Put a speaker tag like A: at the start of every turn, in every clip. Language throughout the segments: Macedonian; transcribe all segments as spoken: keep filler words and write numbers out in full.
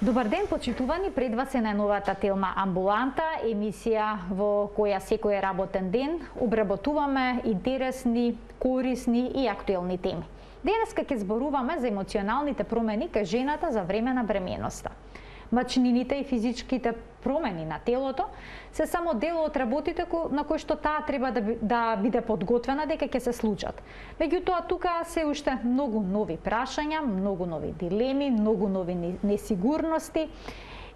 A: Добар ден, почитувани, пред вас е најновата Телма Амбуланта, емисија во која секој работен ден обработуваме интересни, корисни и актуелни теми. Денеска ќе зборуваме за емоционалните промени кај жената за време на бременоста. Мачнините и физичките промени на телото се само дел од работите на кои што таа треба да, да биде подготвена дека ќе се случат. Меѓутоа, тука се уште многу нови прашања, многу нови дилеми, многу нови несигурности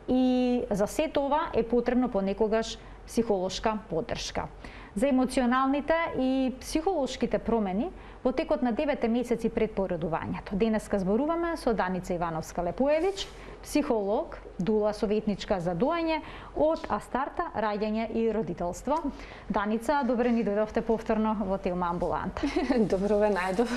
A: и за сето ова е потребно понекогаш психолошка поддршка. За емоционалните и психолошките промени во текот на деветте месеци пред породувањето. Денеска зборуваме со Даница Ивановска-Лепоевич, психолог, дула советничка за доање од Астарта, раѓање и родителство. Даница, добре ни дојдовте повторно во Телма Амбуланта.
B: Добро ве најдов.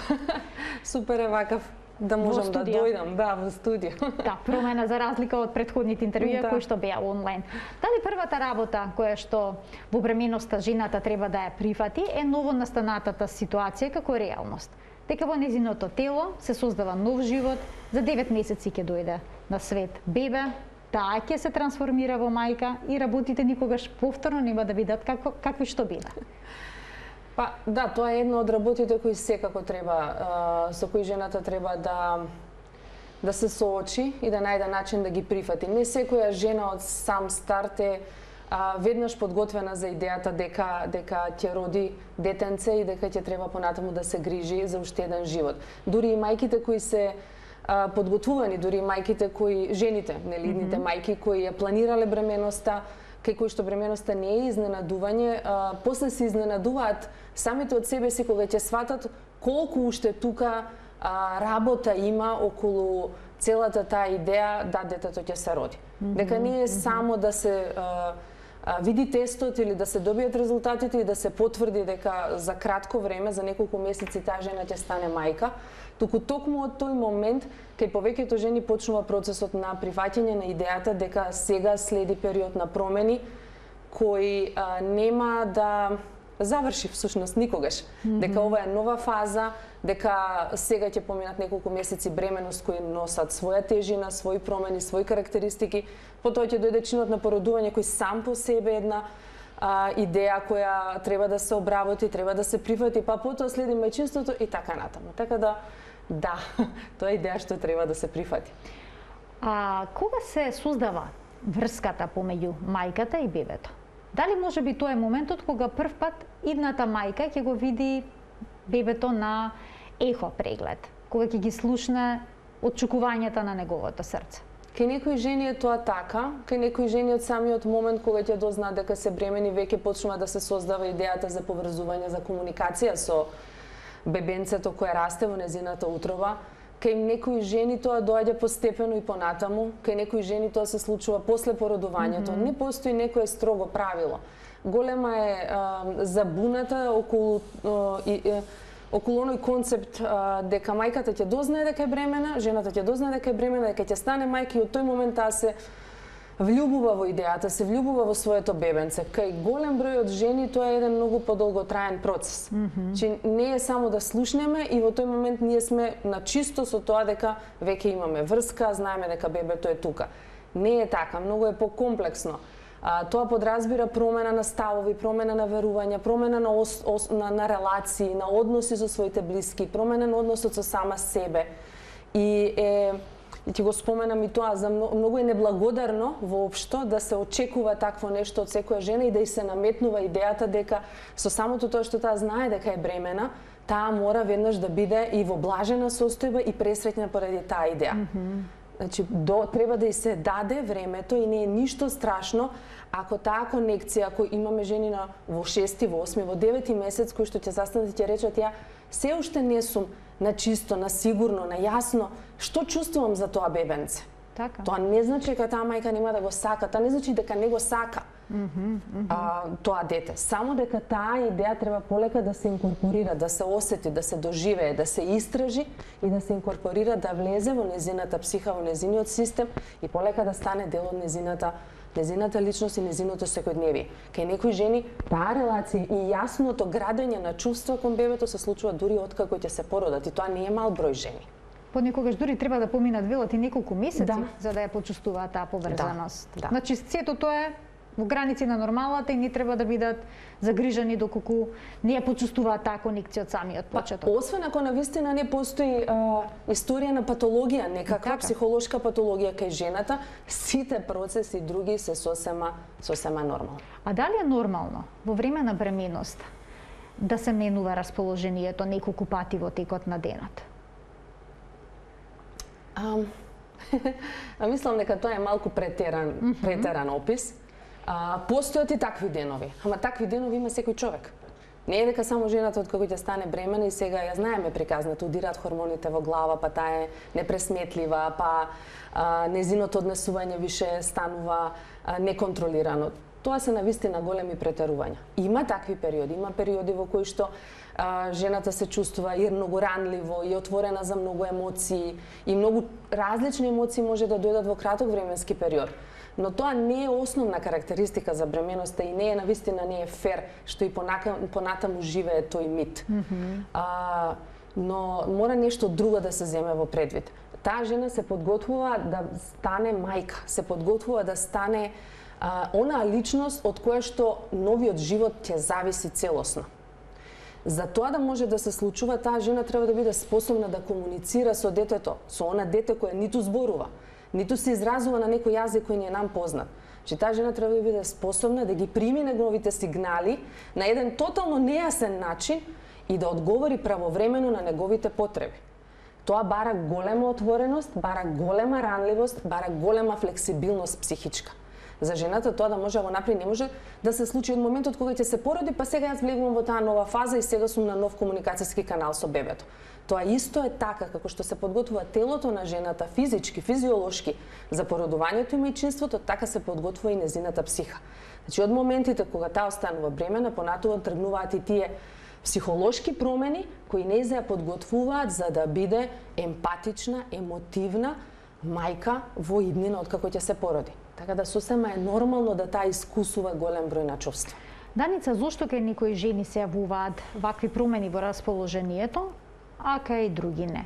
B: Супер е вакав да можам да дојдам, да, во студио.
A: Да, промена за разлика од претходните интервјуи да. кои што беа онлайн. Дали првата работа која што во бременоста жената треба да ја прифати е новонастанатата ситуација како реалност? Дека во незиното тело се создава нов живот, за девет месеци ќе дојде на свет бебе, таа ќе се трансформира во мајка и работите никогаш повторно нема да бидат како, какви што биле.
B: Па, да, тоа е едно од работите кои секако треба, со кои жената треба да да се соочи и да најде начин да ги прифати. Не секоја жена од сам старт е а, веднаш подготвена за идејата дека дека ќе роди детенце и дека ќе треба понатаму да се грижи за уште еден живот. Дури и мајките кои се а, подготвувани, дури и мајките кои жените, нели, идните mm -hmm. мајки кои ја планирале бременоста, кај кои што бременоста не е изненадување, а, после се изненадуваат самите од себе си кога ќе сватат колку уште тука а, работа има околу целата таа идеја да детето ќе се роди. Mm -hmm. Дека не е само да се а, а, види тестот или да се добијат резултатите и да се потврди дека за кратко време, за неколку месеци таа жена ќе стане мајка, туку токму од тој момент кај повеќето жени почнува процесот на прифаќање на идејата дека сега следи период на промени кој а, нема да заврши всушност никогаш. Mm -hmm. Дека ова е нова фаза, дека сега ќе поминат неколку месеци бременост кои носат своја тежина, своји промени, своји карактеристики, потоа ќе дојде чинот на породување кој сам по себе една а, идеја која треба да се обработи, треба да се прифати, па потоа следи мајчинството и така натаму. Така да, да, тоа е идеја што треба да се прифати.
A: А кога се создава врската помеѓу мајката и бебето? Дали може би тоа е моментот кога прв пат идната мајка ќе го види бебето на ехо преглед, кога ќе ги слушне отчукувањата на неговото срце?
B: Кај некои жени е тоа така, кај некои жени од самиот момент кога ќе дознаат дека се бремени, веќе почнува да се создава идејата за поврзување, за комуникација со бебенцето кое расте во незината утроба. Кај некои жени тоа доаѓа постепено и понатаму, кај некои жени тоа се случува после породувањето. Mm -hmm. Не постои некое строго правило. Голема е а, забуната околу а, и, и, околу оној концепт а, дека мајката ќе дознае дека е бремена, жената ќе дознае дека е бремена, дека ќе стане мајка и од тој момент таа се влюбува во идејата, се влюбува во своето бебенце. Кај голем број од жени тоа е еден многу подолготраен процес. Mm -hmm. Че не е само да слушнеме и во тој момент ние сме на чисто со тоа дека веќе имаме врска, знаеме дека бебето е тука. Не е така, многу е покомплексно. А, тоа подразбира промена на ставови, промена на верувања, промена на, ос, ос, на, на релации, на односи со своите блиски, промена на односот со сама себе. И е И ти го споменам и тоа, за многу, многу е неблагодарно воопшто да се очекува такво нешто од секоја жена и да и се наметнува идејата дека со самото тоа што таа знае дека е бремена, таа мора веднаш да биде и во блажена состојба и пресреќна поради таа идеја. Mm -hmm. Значи, до, треба да и се даде времето и не е ништо страшно ако таа конекција, ако имаме жени на во шести, во осми, во девети месец кои што ќе застанат и ќе речат ја се уште не сум на чисто, на сигурно, на јасно што чувствувам за тоа бебенце.
A: Така.
B: Тоа не значи дека таа мајка нема да го сака, тоа не значи дека не го сака. Mm -hmm, mm -hmm. а, тоа дете. Само дека таа идеја треба полека да се инкорпорира, да се осети, да се доживее, да се истражи и да се инкорпорира, да влезе во незината психа, во незиниот систем и полека да стане дел од незината незината личност и незиното секојдневие. Кај некои жени таа релација и јасното градење на чувства кон бебето се случува дури откако ќе се породат и тоа не е мал број жени.
A: Понекогаш дури треба да поминат велат и неколку месеци
B: Да.
A: за да ја почувствуваат таа поврзаност.
B: Да, да.
A: Значи сето тоа е во граници на нормалата и не треба да бидат загрижани доколку не ја почувствуваат таа конекција од самиот почеток.
B: Па, освен ако навистина не постои а, историја на патологија, некаква
A: Така.
B: психолошка патологија кај жената, сите процеси други се сосема сосема нормални.
A: А дали е нормално во време на бременост да се менува расположението неколку пати во текот на денот?
B: А, а мислам дека тоа е малку претеран, mm -hmm. претеран опис. А, постојат и такви денови, ама такви денови има секој човек. Не е дека само жената од кога ќе стане бремена и сега ја знаеме приказната, удираат хормоните во глава, па таа е непресметлива, па а, незиното однесување више станува а, неконтролирано. Тоа се навистина големи претерувања. Има такви периоди, има периоди во кои што а, жената се чувствува и многу ранливо, и отворена за многу емоции, и многу различни емоции може да дојдат во краток временски период. Но тоа не е основна карактеристика за бременоста и не е навистина не е фер што и понатаму живее тој мит. Mm -hmm. а, но мора нешто друго да се земе во предвид. Таа жена се подготвува да стане мајка, се подготвува да стане а, онаа личност од која што новиот живот ќе зависи целосно. За тоа да може да се случува, таа жена треба да биде способна да комуницира со детето, со она дете кое ниту зборува, ниту се изразува на некој јазик кој не е нам познат. Че таа жена треба да биде способна да ги прими неговите сигнали на еден тотално нејасен начин и да одговори правовремено на неговите потреби. Тоа бара голема отвореност, бара голема ранливост, бара голема флексибилност психичка. За жената тоа да може да го направи не може да се случи од моментот кога ќе се породи, па сега јас влегувам во таа нова фаза и сега сум на нов комуникацијски канал со бебето. Тоа исто е така како што се подготвува телото на жената физички, физиолошки за породувањето и мајчинството, така се подготвува и незината психа. Значи од моментите кога таа останува бремена, понатаму тргнуваат и тие психолошки промени кои нејзе ја подготвуваат за да биде емпатична, емотивна мајка во иднина од како ќе се породи. Така да сосема е нормално да таа искусува голем број на чувства.
A: Даница, зошто кај некои жени се јавуваат вакви промени во расположението, а кај други не?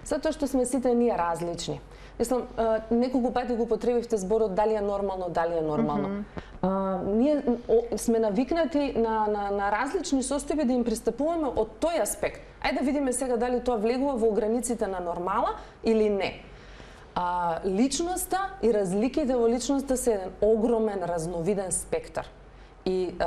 B: Затоа што сме сите ние различни. Мислам, неколку пати го потребивте зборот дали е нормално, дали е нормално. Mm -hmm. а, ние о, сме навикнати на, на, на различни состојби да им пристапуваме од тој аспект. Ајде да видиме сега дали тоа влегува во границите на нормала или не. А, личноста и разликите во личноста се еден огромен, разновиден спектар. И а,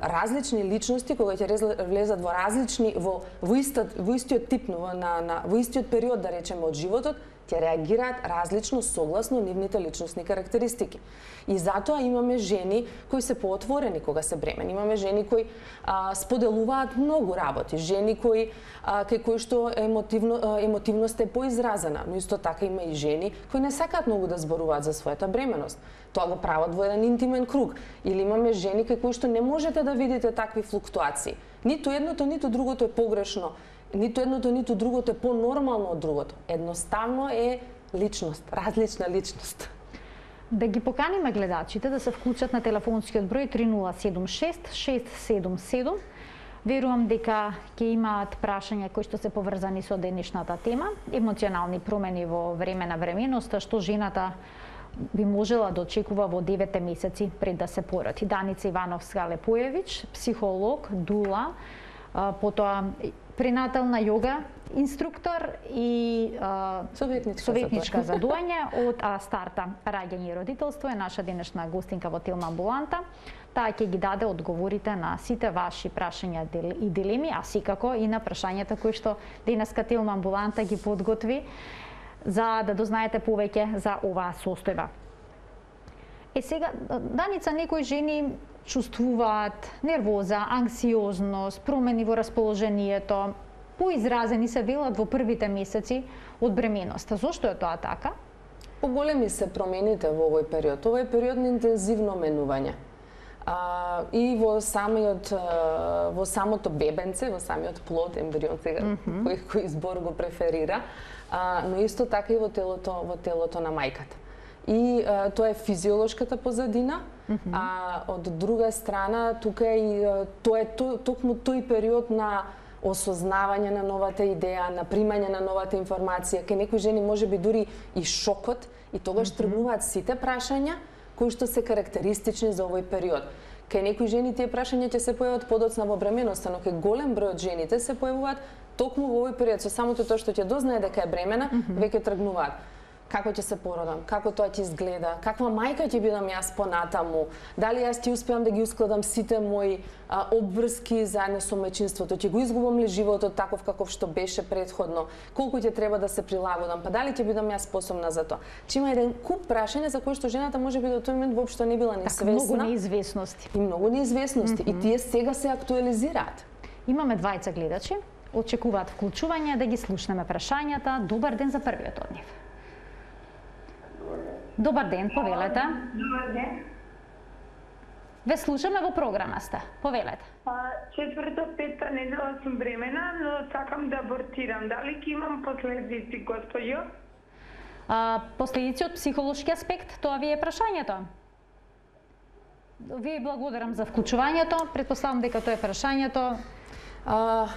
B: различни личности кога ќе влезат во различни во во, истот, во истиот тип на, на во истиот период да речеме од животот, ќе реагираат различно согласно нивните личностни карактеристики. И затоа имаме жени кои се поотворени кога се бремени, имаме жени кои а, споделуваат многу работи, жени кои а, кај кои што емотивно емотивност е поизразена, но исто така има и жени кои не сакаат многу да зборуваат за својата бременост. Тоа го прават во еден интимен круг. Или имаме жени кај кои што не можете да видите такви флуктуации. Ниту едното, ниту другото е погрешно. Ниту едното, ниту другото е понормално од другото. Едноставно е личност, различна личност.
A: Да ги поканиме гледачите да се вклучат на телефонскиот број три нула седум шест шест седум седум. Верувам дека ќе имаат прашања кои што се поврзани со денешната тема, емоционални промени во време на бременоста, што жената би можела да очекува во деветте месеци пред да се породи. Даница Ивановска-Лепоевич, психолог, дула, потоа пренатална јога инструктор и а,
B: советничка,
A: советничка за доање од а, старта раѓање и родителство е наша денешна гостинка во Телма Амбуланта. Таа ќе ги даде одговорите на сите ваши прашања и дилеми, а секако и на прашањата кои што денеска Телма Амбуланта ги подготви за да дознаете повеќе за оваа состојба. Е сега, Даница, некои жени чувствуваат нервоза, анксиозност, промени во расположението, поизразени се велат во првите месеци од бременоста. Зошто е тоа така?
B: Поголеми се промените во овој период. Ова е период на интензивно менување. А, и во самиот во самото бебенце, во самиот плод, ембрион сега, mm -hmm. кој кој збор го преферира, а, но исто така и во телото во телото на мајката. И а, тоа е физиолошката позадина, mm -hmm. а од друга страна тука е и тоа е токму тој период на осознавање на новата идеја, на примање на новата информација. Кај некои жени може би дури и шокот, и тогаш mm -hmm. тргнуваат сите прашања кои што се карактеристични за овој период. Кај некои жени тие прашања ќе се појават подоцна во бременоста, но кај голем број од жените се појавуваат токму во овој период. Со самото тоа што ќе дознае дека е бремена, mm -hmm. веќе тргнуваат. Како ќе се породам, како тоа ќе изгледа, каква мајка ќе бидам јас понатаму, дали јас ќе успеам да ги ускладам сите мои а, обврски заедно со мајчинството, ќе го изгубам ли животот таков каков што беше претходно, колку ќе треба да се прилагодам, па дали ќе бидам јас способна за тоа. Че има еден куп прашања за кои што жената можеби до тој момент воопшто не била ни свесна.
A: Така, многу неизвестности.
B: И многу неизвестности, mm -hmm. и тие сега се актуализираат.
A: Имаме двајца гледачи, очекуваат вклучување, да ги слушнеме прашањата. Добар ден за првиот од нив. Добар ден, повелете.
C: Добар ден.
A: Ве слушаме, во програма сте. Повелете.
C: Четврта, петта недела сум бремена, но сакам да абортирам. Дали ќе имам последици, господјо?
A: А, последици од психолошки аспект, тоа ви е прашањето. Ви благодарам за вклучувањето. Предпоставам дека тоа е прашањето. А,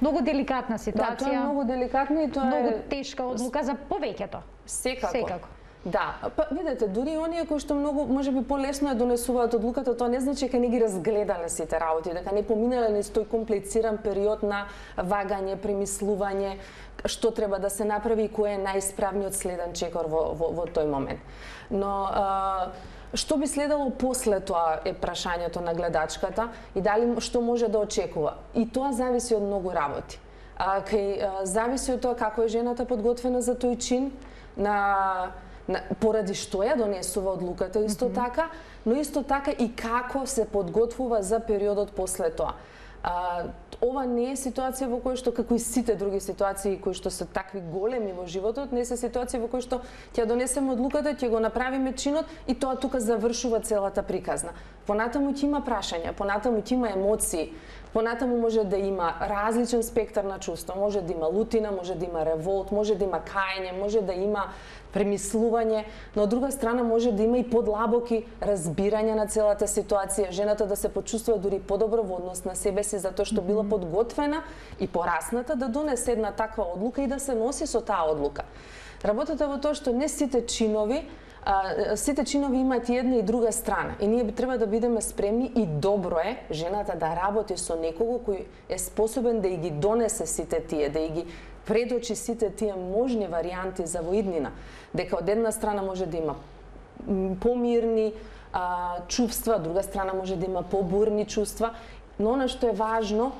A: многу деликатна ситуација.
B: Да, тоа е многу деликатно и тоа
A: многу
B: е
A: многу тешка одлука за повеќето.
B: Секако.
A: Секако.
B: Да, па видете, дури оние кои што многу можеби полесно ја донесуваат одлуката, тоа не значи дека не ги разгледале сите работи, дека не поминале низ тој комплициран период на вагање, премислување, што треба да се направи и кој е најисправниот следен чекор во, во, во тој момент. Но а, што би следало после тоа е прашањето на гледачката и дали што може да очекува. И тоа зависи од многу работи. А, кај, а, зависи од тоа како е жената подготвена за тој чин, на На, поради што ја донесува одлуката исто mm -hmm. така, но исто така и како се подготвува за периодот после тоа. А, ова не е ситуација во која што, како и сите други ситуации кои што се такви големи во животот, не се ситуација во која што ќе донесеме одлуката, ќе го направиме чинот и тоа тука завршува целата приказна. Понатаму ќе има прашања, понатаму ќе има емоции, понатаму може да има различен спектар на чувства, може да има лутина, може да има револт, може да има кајање, може да има премислување, но од друга страна може да има и подлабоки разбирање на целата ситуација, жената да се почувствува дури подобро во однос на себе си затоа што била подготвена и порасната да донесе една таква одлука и да се носи со таа одлука. Работата во тоа што не сите чинови А, сите чинови имаат и една и друга страна и ние би треба да бидеме спремни и добро е жената да работи со некого кој е способен да и ги донесе сите тие, да и ги предочи сите тие можни варијанти за воиднина, дека од една страна може да има помирни а, чувства, од друга страна може да има побурни чувства, но она што е важно,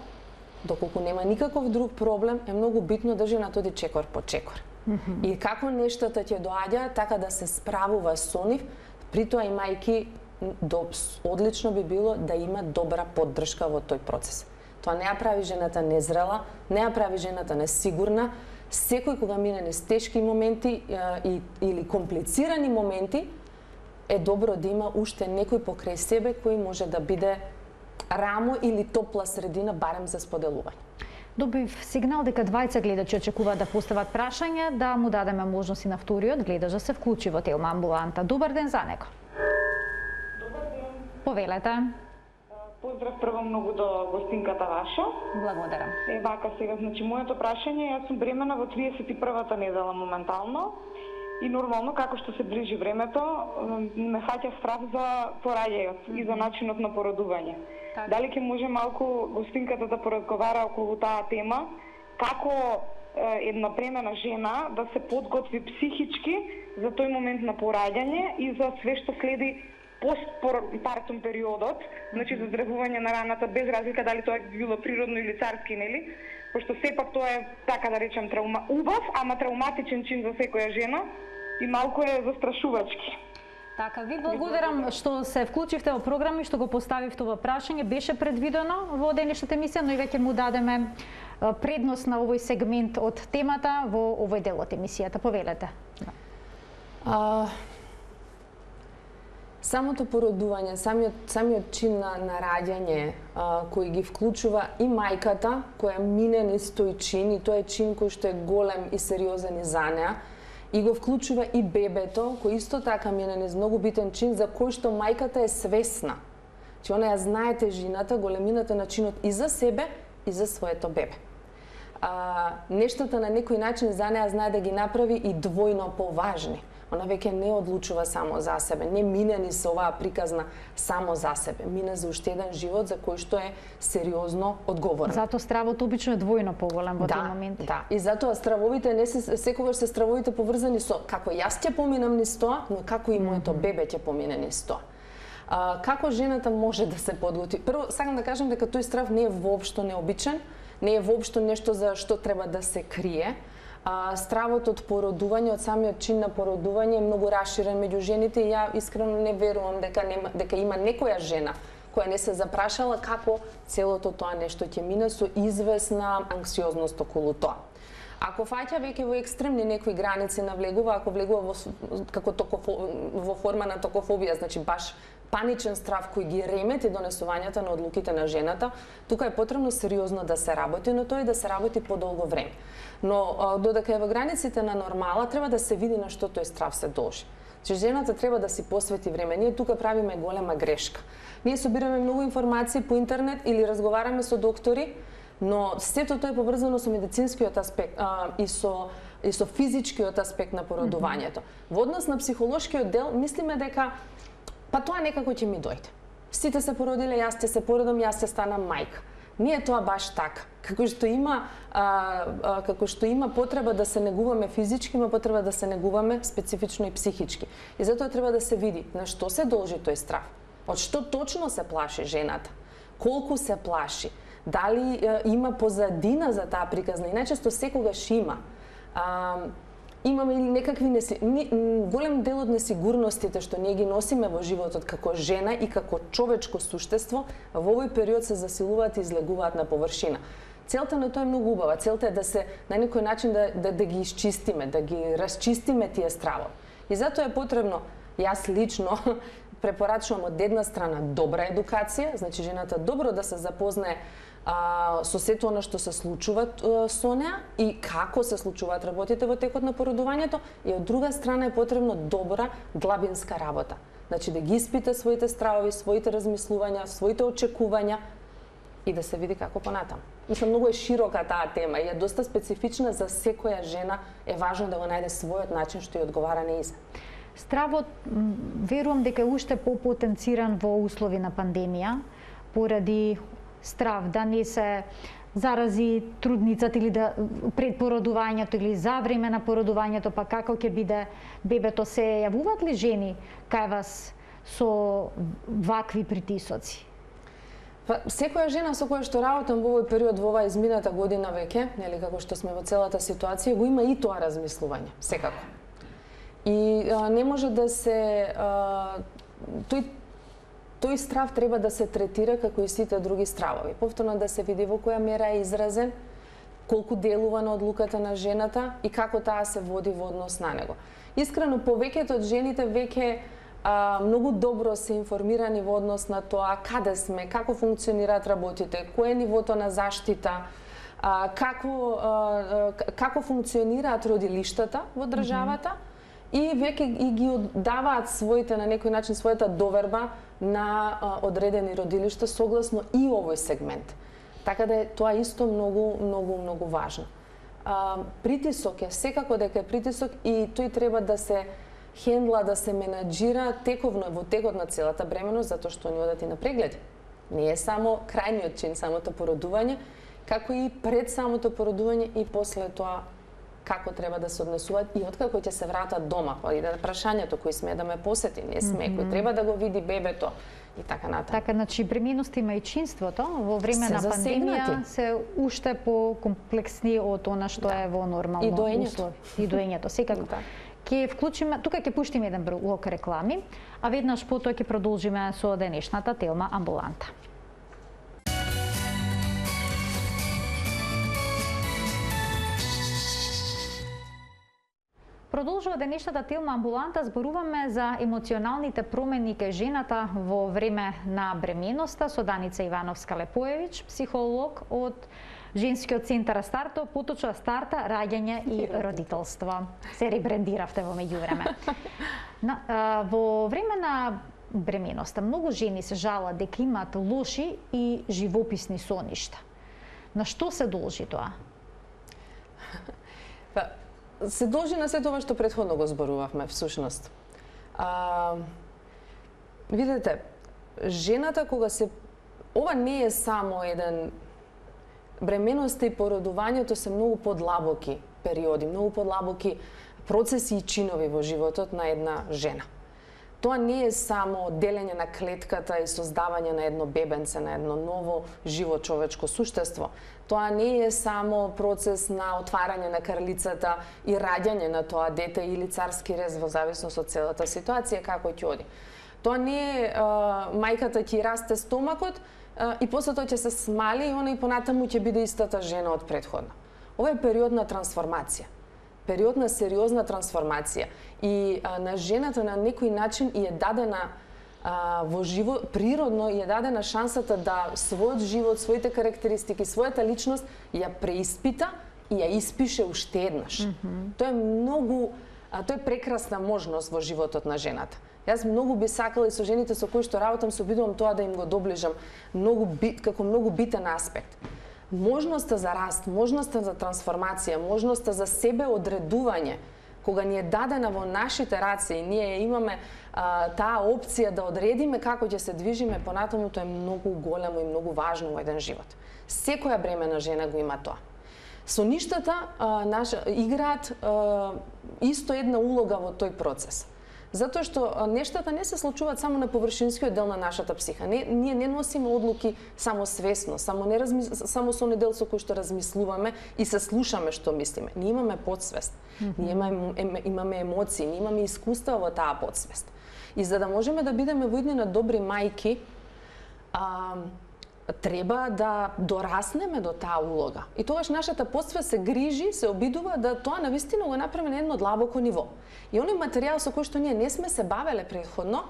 B: доколку нема никаков друг проблем, е многу битно да жената оди чекор по чекор. Mm-hmm. И како нештата ќе доаѓаат, така да се справува со нив, при тоа и мајки одлично би било да има добра поддршка во тој процес. Тоа не ја прави жената незрела, не ја прави жената несигурна. Секој кога мине низ тешки моменти и, или комплицирани моменти, е добро да има уште некој покрај себе кој може да биде рамо или топла средина барем за споделување.
A: Добив сигнал дека двајца гледачи очекуваат да постават прашања, да му дадеме можност и на вториот гледач да се вклучи во Телма амбуланта. Добар ден за него.
C: Добар ден.
A: Повелете.
C: Поздрав прво многу до гостинката ваша.
A: Благодарам.
C: Е, вака сега, значи, моето прашање, јас сум бремена во тридесет и првата недела моментално и нормално, како што се ближи времето, ме фаќа страх за пораѓајот и за начинот на породување. Так. Дали ќе може малку гостинката да поразговара околу таа тема, како е, една бремена жена да се подготви психички за тој момент на пораѓање и за све што следи постпартум периодот, значи за здревување на раната без разлика дали тоа е било природно или царски, нели? Пошто сепак тоа е, така да речем, траума, убав, ама травматичен чин за секоја жена и малку е застрашувачки.
A: Така, ви благодарам што се вклучивте во програма и што го поставивте ова прашање. Беше предвидено во денешната емисија, но и веќе му дадеме предност на овој сегмент од темата во овој дел од емисијата. Повелете.
B: А, самото породување, самиот, самиот чин на, на раѓање а, кој ги вклучува и мајката, која мине низ тој чин, и тој е чин кој што е голем и сериозен и за неа, и го вклучува и бебето, кој исто така мине низ многу битен чин, за кој што мајката е свесна. Че она ја знае тежината, големината на чинот и за себе, и за своето бебе. А, нештата на некој начин за неа знае да ги направи и двојно поважни. Она веќе не одлучува само за себе, не мине ни со оваа приказна само за себе, мине за уште еден живот за кој што е сериозно одговорен.
A: Затоа стравот обично е двојно поголем во
B: да,
A: тој момент.
B: Да, и затоа стравовите не се секогаш се стравовите поврзани со како јас ќе поминам низ тоа, но како и моето бебе ќе помине низ тоа. А, како жената може да се подготви? Прво сакам да кажам дека тој страв не е воопшто необичен, не е воопшто нешто за што треба да се крие. А, стравот од породување, од самиот чин на породување е многу расширен меѓу жените и ја искрено не верувам дека нема, дека има некоја жена која не се запрашала како целото тоа нешто ќе мине со извесна анксиозност околу тоа. Ако фаќа веќе во екстремни некои граници навлегува, ако влегува во како токофо, во форма на токофобија, значи баш паничен страв кој ги ремети донесувањето на одлуките на жената, тука е потребно сериозно да се работи, но тоа и да се работи подолго време. Но додека е во границите на нормала, треба да се види на што тој страв се должи. Че жената треба да си посвети време. Ние тука правиме голема грешка. Ние собираме многу информации по интернет или разговараме со доктори, но сето тоа е поврзано со медицинскиот аспект а, и со и со физичкиот аспект на породувањето. Во однос на психолошкиот дел, мислиме дека па тоа некако ќе ми дојде. Сите се породиле, јас ќе се породам, јас ќе станам мајка. Не е тоа баш така. Како што има а, а, како што има потреба да се негуваме физички, има потреба да се негуваме специфично и психички. И затоа треба да се види на што се должи тој страв. Од што точно се плаши жената? Колку се плаши? Дали а, има позадина за таа приказна? И најчесто секогаш има. А, имаме или некакви неси... голем дел од несигурностите што ние ги носиме во животот како жена и како човечко суштество, во овој период се засилуваат и излегуваат на површина. Целта на тоа е многу убава. Целта е да се на некој начин да, да, да ги исчистиме, да ги расчистиме тие стравови. И затоа е потребно, јас лично препорачувам од една страна добра едукација, значи жената добро да се запознае а, со сето она што се случува а, со неа и како се случуваат работите во текот на породувањето, и од друга страна е потребно добра длабинска работа. Значи да ги испита своите стравови, своите размислувања, своите очекувања и да се види како понатаму. Мислам, многу е широка таа тема и е доста специфична за секоја жена, е важно да го најде својот начин што ја одговара нејзе.
A: Стравот, верувам дека е уште попотенциран во услови на пандемија, поради страв да не се зарази трудницата или да пред породувањето или за време на породувањето, па како ќе биде бебето. Се јавуваат ли жени кај вас со вакви притисоци?
B: Па, секоја жена со која што работам во овој период, во оваа измината година веќе, нели како што сме во целата ситуација, го има и тоа размислување, секако. И а, не може да се а, тој тој страв треба да се третира како и сите други стравови. Повторно да се види во која мера е изразен, колку делува на одлуката на жената и како таа се води во однос на него. Искрено, повеќето од жените веќе а, многу добро се информирани во однос на тоа каде сме, како функционираат работите, кое е нивото на заштита, а, како, а, како функционираат родилиштата во државата, mm-hmm. и веќе и ги даваат своите, на некој начин, својата доверба на а, одредени родилишта согласно и овој сегмент. Така да е тоа исто многу, многу, многу важно. А, притисок е, секако дека е притисок и тој треба да се хендла, да се менаџира тековно во текот на целата бременост, затоа што ни одат и на прегледи. Не е само крајниот чин, самото породување, како и пред самото породување и после тоа како треба да се однесуваат и откако ќе се вратат дома, па и да прашањето кој сме да ме посети, не сме, mm -hmm. кој треба да го види бебето и така натаму.
A: Така, значи преминоста има и чинството во време се на пандемија се уште по-комплексни од она што да. е во нормално
B: и доењето.
A: услови. И доењето, секако. Да. Ќе вклучиме, тука ќе пуштиме еден блок реклами, а веднаш потоа ќе продолжиме со денешната тема амбуланта. Продолжува денешната тема амбуланта, зборуваме за емоционалните промени кај жената во време на бременоста со Даница Ивановска-Лепоевич, психолог од Женскиот центар Старто, поточно Старта, раѓање и родителство. Се ребрендиравте во меѓувреме. Во време на бременоста многу жени се жалат дека имаат лоши и живописни соништа. На што се должи тоа?
B: Па, се должи на се тоа што претходно го зборувавме, всушност. А, видете, жената кога се... Ова не е само еден... Бременоста и породувањето се многу подлабоки периоди, многу подлабоки процеси и чинови во животот на една жена. Тоа не е само делење на клетката и создавање на едно бебенце, на едно ново живо човечко суштество. Тоа не е само процес на отварање на крлицата и раѓање на тоа дете или царски рез во зависност од целата ситуација како ќе оди. Тоа не е а, мајката ќе расте стомакот а, и после тоа ќе се смали и она и понатаму ќе биде истата жена од претходна. Ова е период на трансформација. Период на сериозна трансформација. И а, на жената на некој начин и е дадена а, во живот, природно и е дадена шансата да својот живот, своите карактеристики, својата личност ја преиспита и ја испише уште еднаш. Mm-hmm. Тоа е многу, а, тоа е прекрасна можност во животот на жената. Јас многу би сакала и со жените со кои што работам се обидувам тоа да им го доближам многу бит, како многу битен аспект. Можноста за раст, можноста за трансформација, можноста за себе одредување, кога ни е дадена во нашите раце и ние имаме а, таа опција да одредиме како ќе се движиме понатаму, тоа е многу големо и многу важно во еден живот. Секоја бремена жена го има тоа. Соништата а, наша, играат а, исто една улога во тој процес. Затоа што нештата не се случуваат само на површинскиот дел на нашата психа. Не, ние не носиме одлуки само свесно, само не размис... само со недел со кој што размислуваме и се слушаме што мислиме. Ние имаме подсвест, mm-hmm. ние имаме, имаме емоции, ние имаме искуства во таа подсвест. И за да можеме да бидеме во иднина добри мајки, а, треба да дораснеме до таа улога. И тогаш нашата подсвест се грижи, се обидува да тоа навистина го направи на едно длабоко ниво. И оној материјал со кој што ние не сме се бавеле претходно,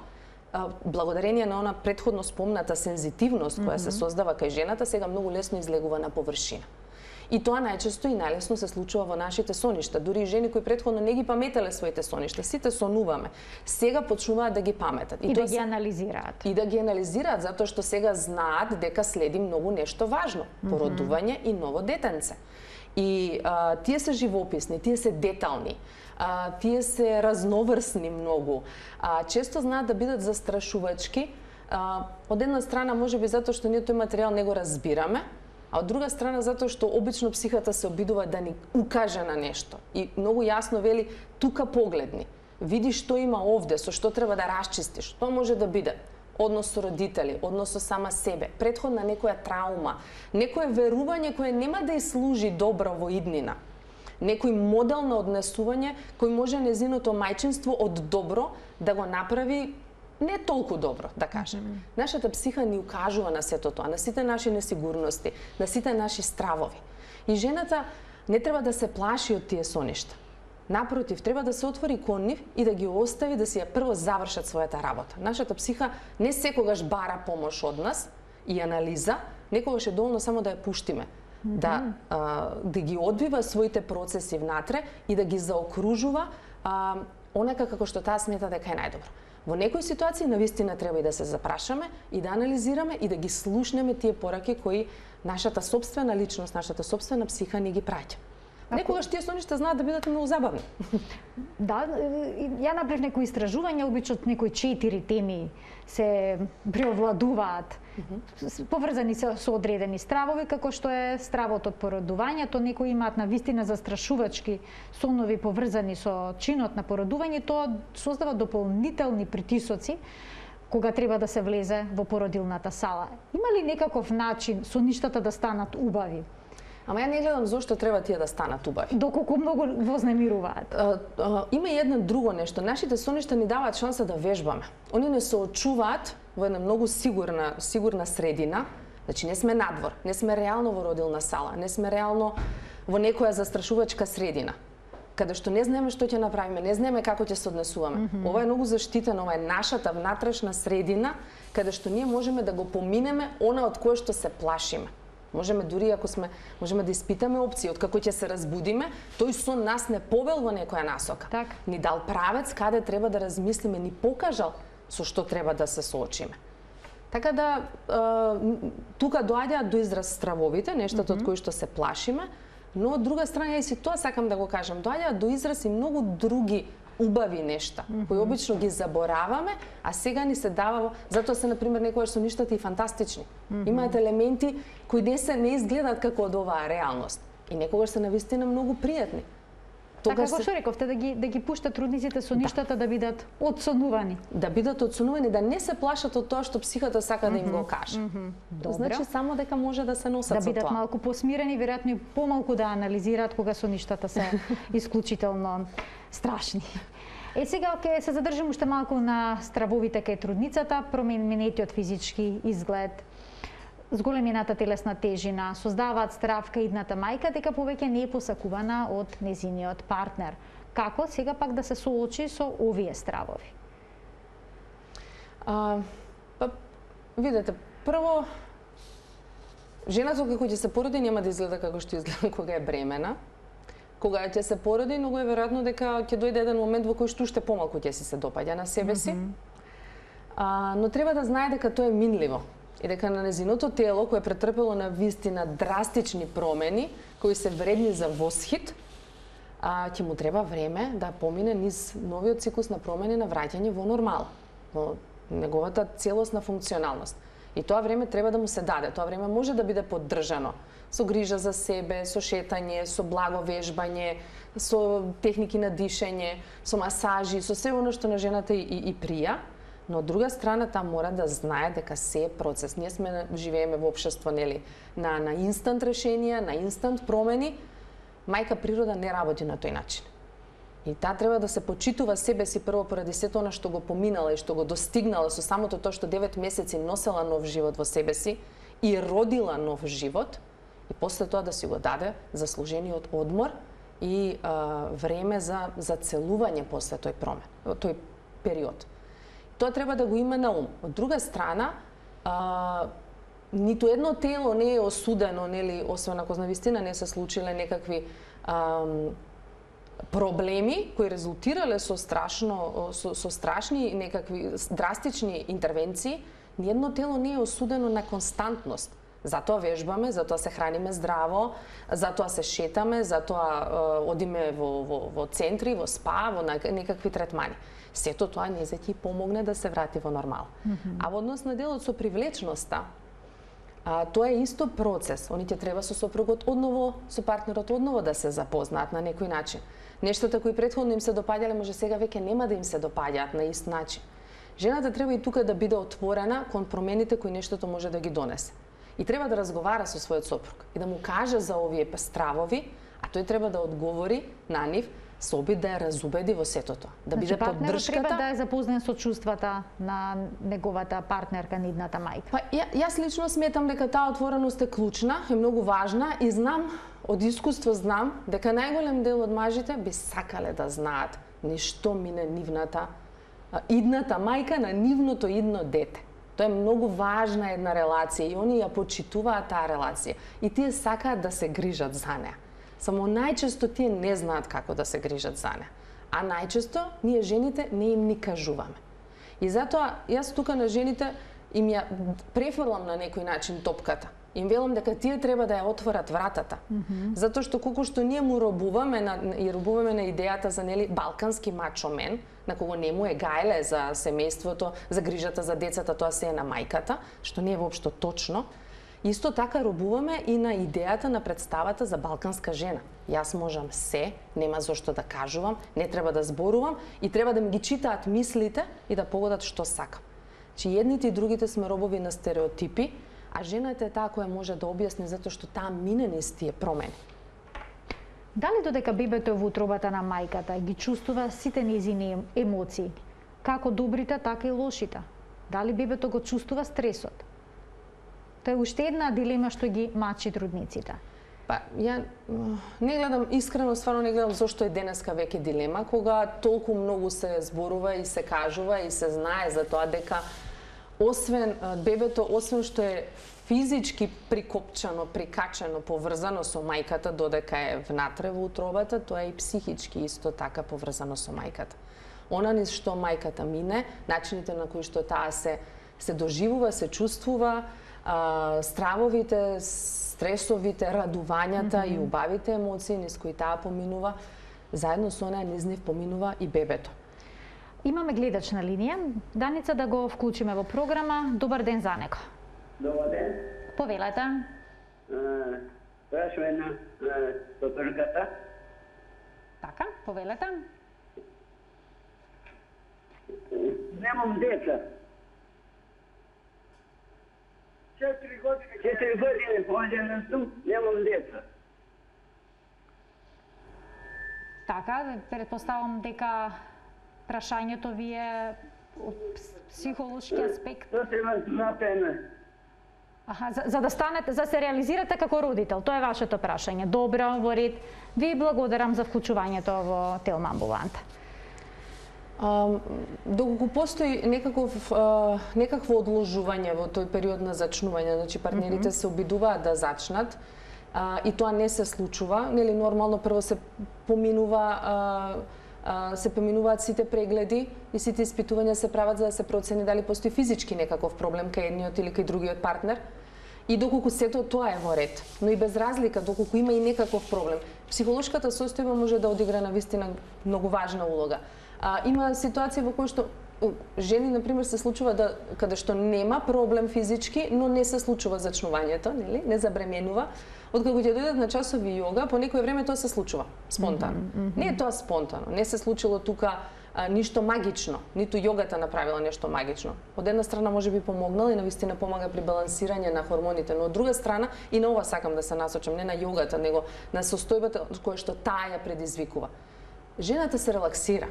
B: благодарение на она претходно спомната сензитивност која mm-hmm. се создава кај жената, сега многу лесно излегува на површина. И тоа најчесто и најлесно се случува во нашите соништа. Дури и жени кои претходно не ги паметеле своите соништа, сите сонуваме. Сега почнуваат да ги паметат.
A: И, и да ги анализираат.
B: И да ги анализираат, затоа што сега знаат дека следи многу нешто важно. Породување mm-hmm. и ново детенце. И а, тие се живописни, тие се детални, а, тие се разноврсни многу. А, често знаат да бидат застрашувачки. А, од една страна можеби затоа што ние тој материјал не го разбираме, а од друга страна затоа што обично психата се обидува да ни укаже на нешто и многу јасно вели тука погледни, види што има овде, со што треба да расчистиш. Тоа може да биде однос со родители, однос со сама себе, претходна некоја траума, некое верување кое нема да ја служи добро во иднина, некој модел на однесување кој може незиното мајчинство од добро да го направи не толку добро, да кажем. Mm-hmm. Нашата психа ни укажува на сето тоа, на сите наши несигурности, на сите наши стравови. И жената не треба да се плаши од тие соништа. Напротив, треба да се отвори кон нив и да ги остави да си ја прво завршат својата работа. Нашата психа не секогаш бара помош од нас и анализа, некогаш е доволно само да ја пуштиме. Mm-hmm. Да, а, да ги одвива своите процеси внатре и да ги заокружува а, онака како што таа смета дека е најдобро. Во некои ситуации навистина треба и да се запрашаме и да анализираме и да ги слушнеме тие пораки кои нашата собствена личност, нашата собствена психа ни ги праќа. Некогаш тие соништа знаат да бидат многу забавни.
A: Да, ја направив некои истражувања, обично некои четири теми се преовладуваат, mm-hmm. поврзани се со одредени стравови, како што е стравот од породувањето, некои имаат навистина застрашувачки сонови поврзани со чинот на породување, тоа создава дополнителни притисоци кога треба да се влезе во породилната сала. Има ли некаков начин соништата да станат убави?
B: Ама ја не гледам зошто треба тие да станат убави.
A: Доколку многу вознемируваат.
B: А, а, има и едно друго нешто. Нашите соништа ни даваат шанса да вежбаме. Они не се очуваат во една многу сигурна, сигурна средина. Значи не сме надвор, не сме реално во родилна сала, не сме реално во некоја застрашувачка средина, каде што не знаеме што ќе направиме, не знаеме како ќе се однесуваме. Mm-hmm. Ова е многу заштитено, ова е нашата внатрешна средина, каде што ние можеме да го поминеме она од кое што се плашиме. Можеме дури ако сме можеме да испитаме опции од како ќе се разбудиме, тој сон нас не повел во некоја насока.
A: Так.
B: Ни дал правец каде треба да размислиме, ни покажал со што треба да се соочиме. Така да тука доаѓаат до израз стравовите, нештото од кои што се плашиме, но од друга страна и си тоа сакам да го кажам, доаѓаат до израз и многу други убави нешта, mm -hmm. кои обично ги забораваме, а сега ни се дава, затоа се, например, некојаш соништата и фантастични. Mm -hmm. Имаат елементи кои не се не изгледаат како од оваа реалност. И некогаш се навистина многу пријатни.
A: Така како што рековте, да ги, да ги пуштат трудниците со ништата да. да бидат одсонувани.
B: Да бидат одсонувани, да не се плашат од тоа што психата сака mm -hmm. да им го каже. Mm -hmm. Добро. Значи само дека може да се носат
A: да
B: со тоа.
A: Да бидат малку посмирени, веројатно и помалку да анализираат кога со ништата се исклучително страшни. Е, сега ќе се задржам уште малку на стравовите кај трудницата, променетиот физички изглед, зголемината телесна тежина, создаваат страв кај идната мајка дека повеќе не е посакувана од незиниот партнер. Како сега пак да се соочи со овие стравови?
B: А, па, видете, прво, жената кога ќе се породи нема да изгледа како што изгледа кога е бремена. Кога ќе се породи, многу е веројатно дека ќе дојде еден момент во кој што уште помалку ќе си се допаѓа на себе си. Mm -hmm. а, но треба да знае дека тоа е минливо и дека на незиното тело, кое е претрпело на вистина драстични промени, кои се вредни за восхит, а, ќе му треба време да помине низ новиот циклус на промени на враќање во нормал, во неговата целосна функционалност. И тоа време треба да му се даде. Тоа време може да биде поддржано со грижа за себе, со шетање, со благо вежбање, со техники на дишење, со масажи, со се оно што на жената и, и, и прија. Но од друга страна, таа мора да знае дека се е процес. Ние сме живееме во општество, нели, на на инстант решенија, на инстант промени. Мајка природа не работи на тој начин. И таа треба да се почитува себе си прво поради сето она што го поминала и што го достигнала со самото тоа што девет месеци носела нов живот во себе си и родила нов живот, и после тоа да си го даде заслужениот одмор и а, време за за целување после тој промен, тој период. Тоа треба да го има на ум. Од друга страна, а, ниту едно тело не е осудено, нели, освен ако навистина не се случиле некакви а, проблеми кои резултирале со страшно со, со страшни некакви драстични интервенции, ниедно тело не е осудено на константност. Затоа вежбаме, затоа се храниме здраво, затоа се шетаме, затоа е, одиме во, во, во центри, во спа, во некакви третмани. Сето тоа не ќе помогне да се врати во нормал. Mm -hmm. А во однос на делот со привлечноста, а, тоа е исто процес. Они ќе треба со сопругот одново, со партнерот одново да се запознаат на некој начин. Нештата кои претходно им се допаѓале, може сега веќе нема да им се допаѓаат на ист начин. Жената треба и тука да биде отворена кон промените кои нештото може да ги донесе. И треба да разговара со својот сопруг и да му каже за овие стравови, а тој треба да одговори на нив со обид да ја разубеди во сето тоа. Да
A: значи,
B: биде поддршката.
A: Треба да е запознат со чувствата на неговата партнерка, нидната мајка.
B: Па ја, јас лично сметам дека таа отвореност е клучна, е многу важна и знам, од искуство знам, дека најголем дел од мажите би сакале да знаат ништо мине нивната идната мајка на нивното идно дете. Тоа е многу важна една релација и они ја почитуваат таа релација. И тие сакаат да се грижат за неа. Само најчесто тие не знаат како да се грижат за неа. А најчесто ние жените не им ни кажуваме. И затоа јас тука на жените им ја префрлам на некој начин топката. Им велам дека тие треба да ја отворат вратата. Mm -hmm. Затоа што колку што ние му робуваме на, и робуваме на идејата за, нели, балкански мачо мен, на кого не му е гајле за семејството, за грижата за децата, тоа се е на мајката, што не е воопшто точно. Исто така робуваме и на идејата на представата за балканска жена. Јас можам се, нема зошто да кажувам, не треба да зборувам и треба да ми ги читаат мислите и да погодат што сакам. Че едните и другите сме робови на стереотипи, а жената е таа која може да објасни затоа што таа мине низ тие промени.
A: Дали додека бебето е во утробата на мајката ги чувствува сите нејзини емоции, како добрите, така и лошите? Дали бебето го чувствува стресот? Тоа е уште една дилема што ги мачи трудниците.
B: Па, ја не гледам, искрено, стварно не гледам зошто е денеска веќе дилема, кога толку многу се зборува и се кажува и се знае за тоа дека освен бебето, освен што е физички прикопчано, прикачено, поврзано со мајката додека е внатре во утробата, тоа е и психички исто така поврзано со мајката. Она низ што мајката мине, начините на кои што таа се се доживува, се чувствува а, стравовите, стресовите, радувањата mm -hmm. и убавите емоции низ кои таа поминува, заедно со неа низ нив поминува и бебето.
A: Имаме гледач на линија. Даница, да го вклучиме во програма. Добар ден за него.
D: Добар ден.
A: Повелете.
D: Прашуваме на докторката.
A: Така, повелете.
D: Немам деца. Четири години. Четири години поđena сум, немам деца.
A: Така, предпоставам дека прашањето ви е од психолошки аспект.
D: Тоа треба напреме.
A: Аха, за, за да станете, за да се реализирате како родител, тоа е вашето прашање. Добро, во ред. Ви благодарам за вклучувањето во Телма амбуланта.
B: Um, доколку постои некаков, uh, некакво одложување во тој период на зачнување, значи партнерите mm -hmm. се обидуваат да зачнат, uh, и тоа не се случува, нели нормално прво се поминува uh, uh, се поминуваат сите прегледи и сите испитувања се прават за да се процени дали постои физички некаков проблем кај едниот или кај другиот партнер. И доколку сето тоа е во ред, но и без разлика, доколку има и некаков проблем, психолошката состојба може да одигра на вистина многу важна улога. А, има ситуации во кои што жени, например, се случува да каде што нема проблем физички, но не се случува зачнувањето, нели? Не забременува. Откако ќе дојдат на часови јога, по некое време тоа се случува спонтано. Mm -hmm. Не е тоа спонтано, не се случило тука а, ништо магично, ниту јогата направила нешто магично. Од една страна може би помогнала и навистина помага при балансирање на хормоните, но од друга страна и на ова сакам да се насочам, не на јогата, него на состојбата која што таа ја предизвикува. Жената се релаксира.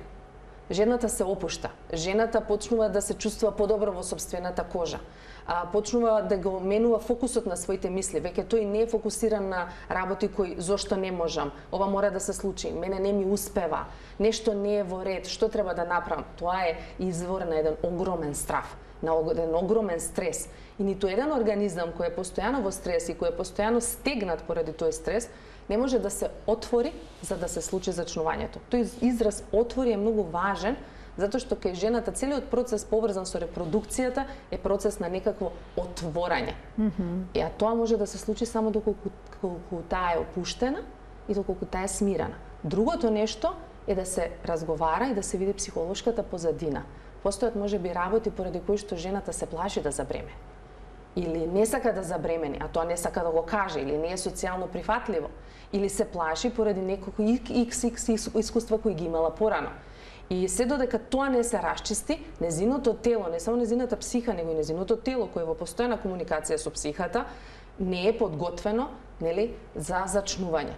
B: Жената се опушта, жената почнува да се чувствува подобро во собствената кожа, а, почнува да го менува фокусот на своите мисли, веќе тој не е фокусиран на работи кои зошто не можам, ова мора да се случи, мене не ми успева, нешто не е во ред, што треба да направам. Тоа е извор на еден огромен страв, на еден огромен стрес. И ниту еден организам кој е постојано во стрес и кој е постојано стегнат поради тој стрес, не може да се отвори за да се случи зачнувањето. Тој израз отвори е многу важен, затоа што кај жената целиот процес поврзан со репродукцијата е процес на некакво отворање. Mm -hmm. И а тоа може да се случи само доколку, доколку таа е опуштена и доколку таа е смирена. Другото нешто е да се разговара и да се види психолошката позадина. Постојат можеби работи поради кои што жената се плаши да забреме. Или не сака да забремени, а тоа не сака да го каже, или не е социјално прифатливо, или се плаши поради некои икс икс искуства кои ги имала порано. И се додека тоа не се расчисти, незиното тело, не само незината психа, него и незиното тело кој е во постојана комуникација со психата, не е подготвено, нели, за зачнување.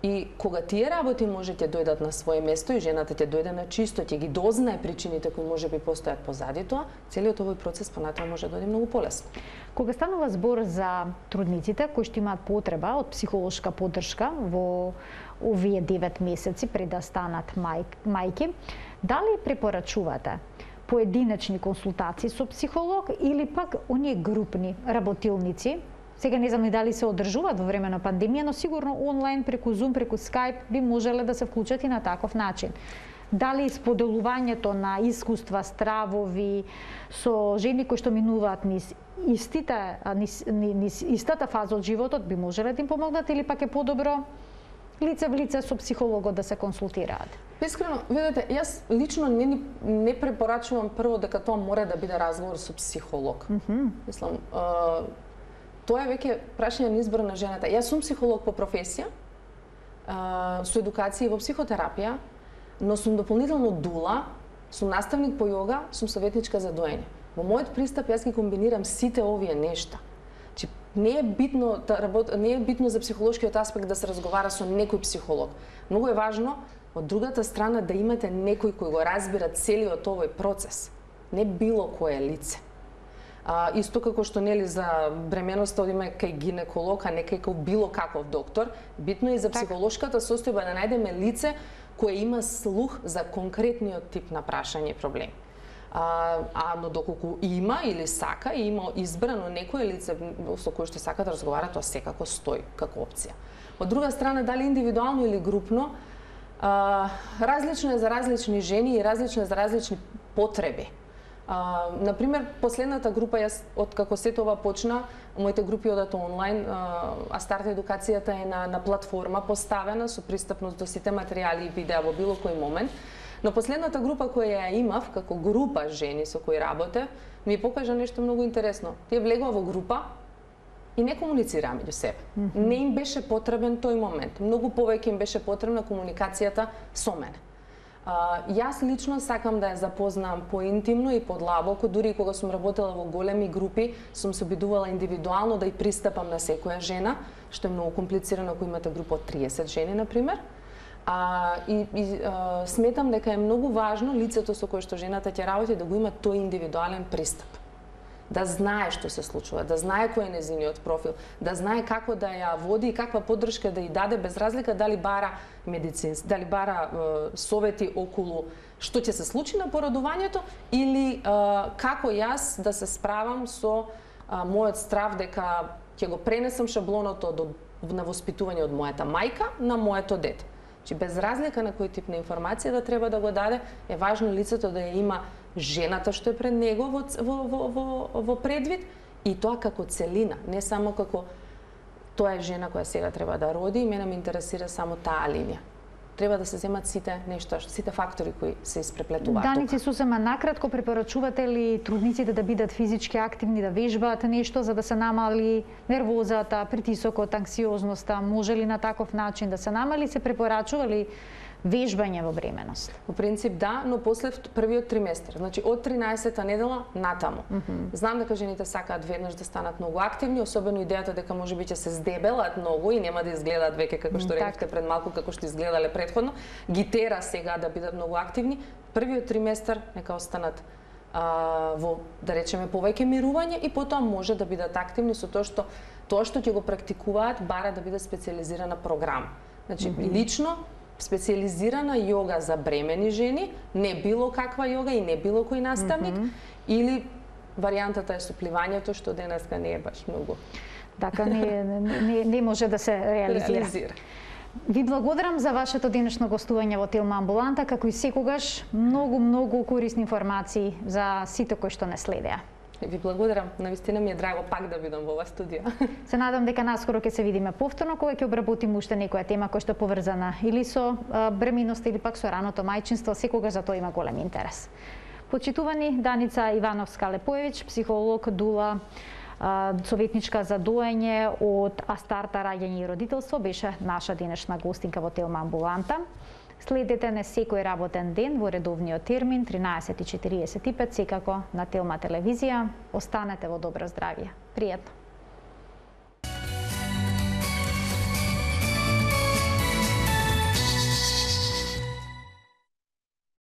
B: И кога тие работи може ќе дојдат на свое место и жената ќе дојде на чисто, ќе ги дознае причините кои можеби постојат позади тоа, целиот овој процес понатаму може да дојде многу полесно.
A: Кога станува збор за трудниците кои што имаат потреба од психолошка поддршка во овие девет месеци пред да станат мај, мајки, дали препорачувате поединечни консултации со психолог или пак оние групни работилници? Сега не знам и дали се одржуваат во време на пандемија, но сигурно онлайн, преку Zoom, преку Skype би можеле да се вклучат и на таков начин. Дали споделувањето на искуства, стравови со жени кои што минуваат низ истите, низ, низ истата фаза од животот би можеле да им помогнат или пак е подобро лице в лице со психологот да се консултираат?
B: Искрено, видете, јас лично не, не препорачувам прво дека тоа мора да биде разговор со психолог. Mm -hmm. Мислам, uh, тоа е веќе прашање на избор на жената. Јас сум психолог по професија, uh, со едукација во психотерапија, но сум дополнително дула, сум наставник по јога, сум советничка за доење. Во мојот пристап јас ги комбинирам сите овие нешта. Чи не е битно да работ... не е битно за психолошкиот аспект да се разговара со некој психолог. Многу е важно од другата страна да имате некој кој го разбира целиот овој процес, не било кое лице. А, исто како што нели за бременоста одиме кај гинеколог, а не кај било каков доктор, битно е и за психолошката состојба да најдеме лице кое има слух за конкретниот тип на прашање и проблеми. А, а но доколку има или сака и има избрано некое лице со кое што сака да разговара, тоа секако стои како опција. Од друга страна, дали индивидуално или групно, а, различно е за различни жени и различно е за различни потреби. А, например, последната група, јас од како се това почна, моите групи одат онлайн, а, а старта едукацијата е на, на платформа поставена со пристапност до сите материјали и видеа во било кој момент. Но последната група која ја имав, како група жени со кои работев, ми покажа нешто многу интересно. Тие влегува во група и не комуницираа меѓу себе. Mm -hmm. Не им беше потребен тој момент. Многу повеќе им беше потребна комуникацијата со мене. Uh, јас лично сакам да ја запознам поинтимно и подлабоко, дури и кога сум работела во големи групи, сум се обидувала индивидуално да ја пристапам на секоја жена, што е многу комплицирано ако имате група од триесет жени, например. А, и и а, сметам дека е многу важно лицето со кое што жената ќе работи да го има тој индивидуален пристап. Да знае што се случува, да знае кој е нејзиниот профил, да знае како да ја води и каква поддршка да ја даде, без разлика дали бара медицински, дали бара е, совети околу што ќе се случи на породувањето или е, како јас да се справам со е, мојот страв дека ќе го пренесам шаблоното до, на воспитување од мојата мајка на моето дете. Чи без разлика на кој тип на информација да треба да го даде, е важно лицето да ја има жената што е пред него во, во, во, во, во предвид и тоа како целина, не само како тоа е жена која сега треба да роди и мене ме интересира само таа линија. Треба да се земат сите нешта, сите фактори кои се испреплетуваат.
A: Даници, сосема накратко, препорачувате ли трудниците да бидат физички активни, да вежбаат нешто за да се намали нервозата, притисокот, анксиозноста? Може ли на таков начин да се намали? Се препорачува ли вежбање во бременост?
B: Во принцип да, но после првиот триместар, значи од тринаесета недела натаму. Mm -hmm. Знам дека жените сакаат веднаш да станат многу активни, особено идејата дека можеби ќе се здебелат многу и нема да изгледаат веќе како што рекавте пред малку, како што изгледале претходно, ги тера сега да бидат многу активни. Првиот триместар нека останат а, во, да речеме, повеќе мирување и потоа може да бидат активни со тоа што тоа што ќе го практикуваат бара да биде специјализирана програма. Значи mm -hmm. лично специјализирана јога за бремени жени, не било каква јога и не било кој наставник, mm -hmm. или варијантата е со пливањето, што денеска не е баш многу.
A: Така не, не, не може да се реализира. реализира. Ви благодарам за вашето денешно гостување во Телма Амбуланта, како и секогаш многу, многу корисни информации за сите кои што не следеа.
B: Ви благодарам, навистина ми е драго пак да бидам во ова студио.
A: Се надам дека наскоро ќе се видиме повторно кога ќе обработиме уште некоја тема која што е поврзана или со бреминоста или пак со раното мајчинство, секогаш за тоа има голем интерес. Почитувани, Даница Ивановска-Лепоевиќ, психолог, дула, советничка за доење од Астарта раѓање и родителство, беше наша денешна гостинка во Телма Амбуланта. Следете не секој работен ден во редовниот термин тринаесет и четириесет и пет секако на Телма телевизија. Останете во добро здравје. Пријатно.